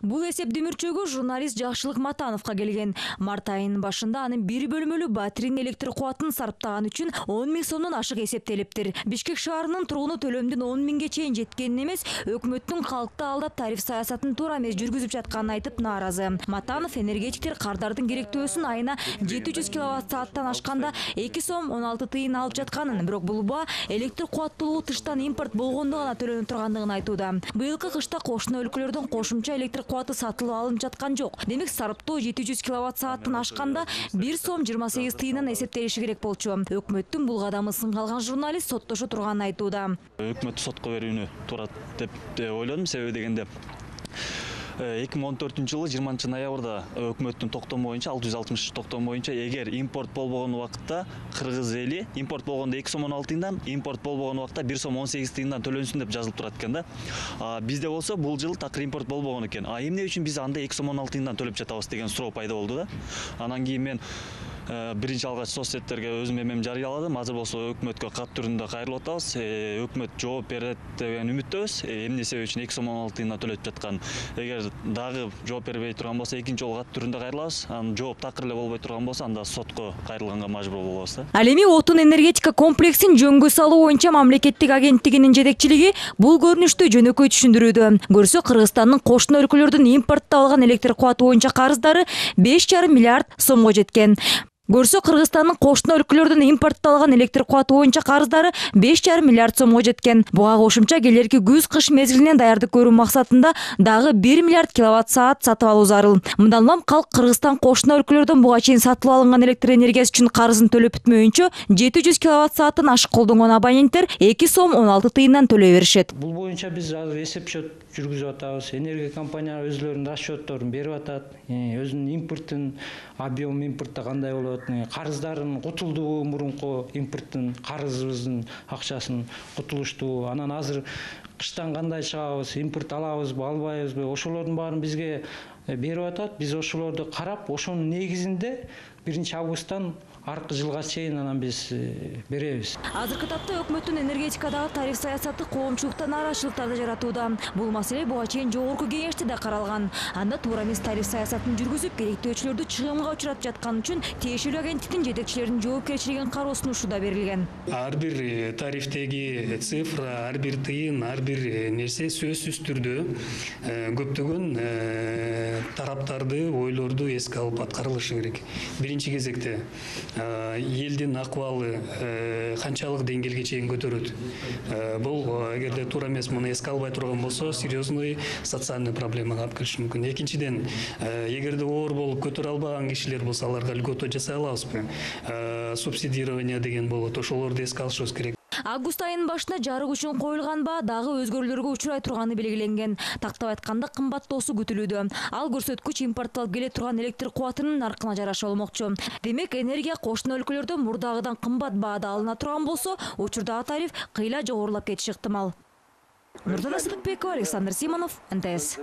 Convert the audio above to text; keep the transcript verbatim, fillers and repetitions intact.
Бул эсептөмүрчөгө журналист Жакшылык Матановго келген. Март айынын башында анын бир бөлмөлүү батиренин электр кубатын сарптаган үчүн он миң сомдон ашык эсептелиптир. Бишкек шаарынын тургуну төлөмдүн он миңге чейин жеткенин эмес, өкмөттүн калкты алдап тариф саясатын туура эмес жүргүзүп жатканын айтып нааразы. Матанов энергетиктер кардардын керектөөсүн айына жети жүз киловатт сааттан ашканда эки сом он алты тыйын алып жатканын, бирок бул баа электр кубаттуулугу тыштан импорт болгондо гана төлөнүп тургандыгын айтууда. Быйылкы кышта кошуна өлкөлөрдөн кошумча электр кубаты сатылып алынып жаткан жок. Демек сарптоо жети жүз киловатт сааттан ашканда бир сом жыйырма сегиз тыйындан эсептелиши керек болчу. Өкмөттүн бул кадамы сынга алган журналист соттошо турганын айтууда. Өкмөт сотко берүүнү турат деп ойлодум, себеби дегенде эки миң он төртүнчү жылы жыйырманчы ноябрда өкмөттүн токтому боюнча алты жүз алтымыш токтому боюнча эгер импорт болбогон убакытта кыргыз эли импорт болгондо эки сом он алты тыйындан, импорт болбогон убакта бир сом он сегиз тыйындан төлөнсүн деп жазылып турат экен да. Бизде болсо бул жыл такыр импорт болбогон экен. А эмне үчүн биз анда эки сом он алты тыйындан төлөп жатабыз деген суроо пайда болду да. Анан кийин мен биринчи алгач соцсеттерге өзүм эмем жарыяладым. Азыр болсо өкмөткө кат түрүндө кайрылып атабыз. Өкмөт жооп берет деген үмүттөбүз. Эмне себеп үчүн эки сом он алты тыйындан төлөп жаткан. Эгер дагы жооп бербей турган болсо, экинчи жолу кат түрүндө кайрылабыз. Анан жооп такыр эле болбой турган болсо, анда сотко кайрылганга мажбур болобуз да. Ал эми отун энергетика комплексин жөнгө салуу боюнча мамлекеттик агенттигинин жетекчилиги бул көрүнүштү жөнөкөй түшүндүрүүдө. Көрсө, Кыргызстандын кошуна өлкөлөрдүн импорттоп алган электр кубаты боюнча карыздары беш жарым миллиард сомго жеткен. Көрсө, Кыргызстандын кошуна өлкөлөрдүн импорттоп алган электр кубаты боюнча карыздары беш жарым миллиард сомго жеткен. Буга кошумча келерки күз-кыш мезгилинен даярдык көрүү максатында дагы бир миллиард киловатт саат сатып алуу зарыл. Мындан улам калк Кыргызстан кошуна өлкөлөрдөн буга чейин сатылып алынган электр энергиясы үчүн карызын төлөп бүтмөйүнчө жети жүз киловатт сааттан ашык колдонгон абоненттер эки сом он алты тыйындан төлөй беришет. Бул боюнча биз азыр эсеп счет жүргүзүп атабыз. Энергия компаниялар өзлөрүнүн расчетторун берип атат. Өзүнүн импорттун объем импортто кандай болот, карыздарын кутулдубу, мурунку импорттун карызыбыздын акчасын кутулушту. Анан азыр кыштан кандай чыгабыз, импорт алабызбы, албайбызбы, ошолордун баарын бизге берип атат. Биз ошолорду карап, ошонун негизинде биринчи августтан аркы жылга чейин анан биз беребиз. Азыркы тапта өкмөттүн энергетикадагы тариф саясаты коомчулукта нааразычылыктарды жаратууда. Бул маселе буга чейин жогорку кеңеште да каралган. Анда туура эмес тариф саясатын жүргүзүп, керектөөчүлөрдү чыгымга учуратып жаткан үчүн тиешелүү агенттиктин жетекчилеринин жоопкерчилигин кароо сунушу да берилген. Ар бир тарифтеги цифра, ар бир тыйын, ар бир нерсе сөзсүз түрдө көптөгөн тараптарды, ойлорду эске алып аткарылышы керек. Биринчи кезекте элдин акыбалы канчалык деңгээлге чейин көтөрөт. Бул эгерде туура эмес муну эске албай турган болсо, серьезный социальный проблемага алып келиши мүмкүн. Экинчиден, эгерде оор болуп көтөрө албаган кишилер болсо, аларга льгота жасай алабызбы? Субсидирование деген болот, ошолорду эске алышыбыз керек. Август айынын башында жарык үчүн коюлган баа дагы өзгөрүүлөргө учурай турганы белгиленген. Тактап айтканда кымбаттоосу күтүлүүдө. Ал көрсөткүч импортталып келе турган электр кубатынын наркына жараша болмокчу. Демек, энергия кошуна өлкөлөрдө мурдагыдан кымбат баада алына турган болсо, учурдагы тариф кыйла жогорулап кетиши ыктымал. Нурдана Сыдыкбекова, Александр Симонов, эн тэ эс.